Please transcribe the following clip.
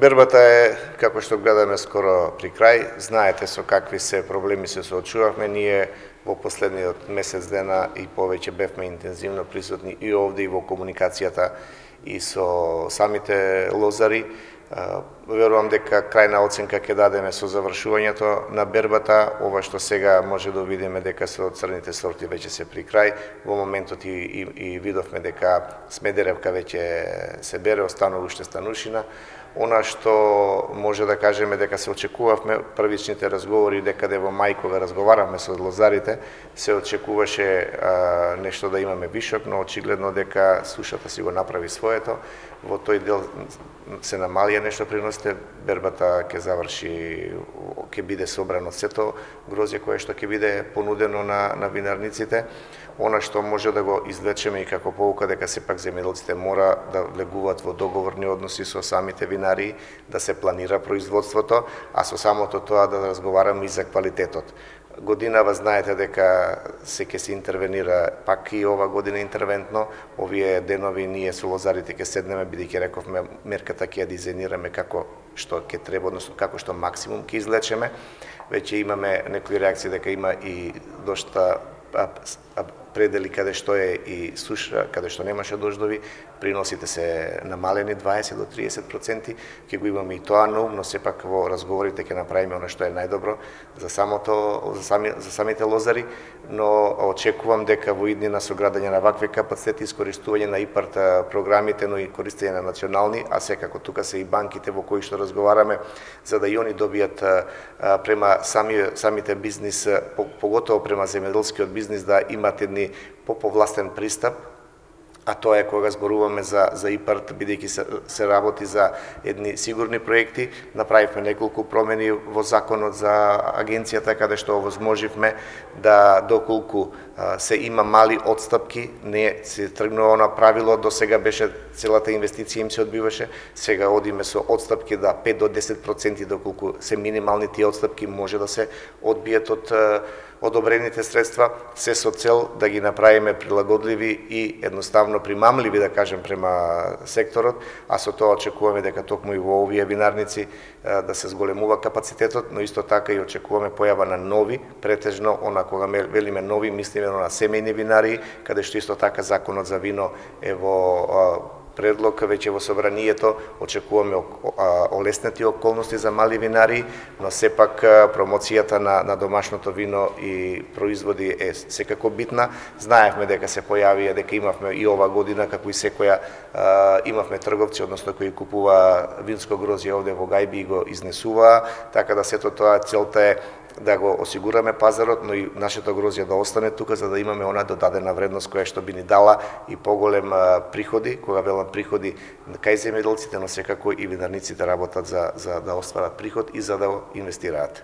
Бербата е, како што гледаме, скоро при крај. Знаете со какви се проблеми се соочувавме. Ние во последниот месец дена и повеќе бевме интензивно присутни и овде и во комуникацијата и со самите лозари. Верувам дека крајна оценка ќе дадеме со завршувањето на бербата. Ова што сега може да видиме дека со црните сорти веќе се при крај. Во моментот и видовме дека Смедеревка веќе се бере, останува уште Станушина. Она што може да кажеме дека се очекувавме, првичните разговори декаде во мај кога разговаравме со лозарите, се очекуваше нешто да имаме вишок, но очигледно дека сушата си го направи своето. Во тој дел се намалија нешто приносите, бербата ќе заврши, ќе биде собрано сето грозје кое што ќе биде понудено на винарниците. Она што може да го извлечеме и како поука дека сепак земјоделците мора да влегуваат во договорни односи со самите винарии, да се планира производството, а со самото тоа да разговараме и за квалитетот. Годинава знаете дека ќе се интервенира, пак и ова година интервентно. Овие денови ние со лозарите ќе седнеме, бидејќи рековме мерката ќе ја дизајнираме како што ќе треба, односно како што максимум ќе излечеме. Веќе имаме некои реакции дека има и дошта предели каде што е и суша, каде што немаше дождови, приносите се намалени 20 до 30%, ќе го имаме и тоа на ум, но сепак во разговорите ќе направиме она што е најдобро за самите лозари, но очекувам дека во иднина со градење на вакви капацитети, искористување на ИПАРТ програмите, но и користење на национални, а секако тука се и банките во кои што разговараме, за да и они добијат према самите бизнис, поготово према земјоделскиот бизнис, да имат едни поповластен пристап, а тоа е кога зборуваме за ИПАРТ, бидејќи се работи за едни сигурни проекти. Направивме неколку промени во законот за агенцијата, каде што овозможивме да доколку се има мали отстапки, не се тргнува на правило, до сега беше целата инвестиција им се одбиваше, сега одиме со отстапки да 5 до 10%, доколку се минимални тие отстапки може да се одбијат од одобрените средства, се со цел да ги направиме прилагодливи и едноставно примамливи, да кажем, према секторот, а со тоа очекуваме дека токму и во овие винарници да се зголемува капацитетот, но исто така и очекуваме појава на нови, претежно, она кога велиме нови, мислиме на семејни винарии, каде што исто така законот за вино е во предлог веќе во собранието, очекуваме олеснети околности за мали винарии, но сепак промоцијата на домашното вино и производи е секако битна. Знаевме дека се појавија, дека имавме и ова година, како и секоја, имавме трговци, односно кои купува винско грозје овде во Гајби и го изнесуваа, така да сето тоа целта е да го осигураме пазарот, но и нашето грозје да остане тука, за да имаме она додадена вредност која што би ни дала и поголем приходи, кога велам приходи кај земјоделците, но секако и винарниците работат за да остварат приход и за да инвестираат.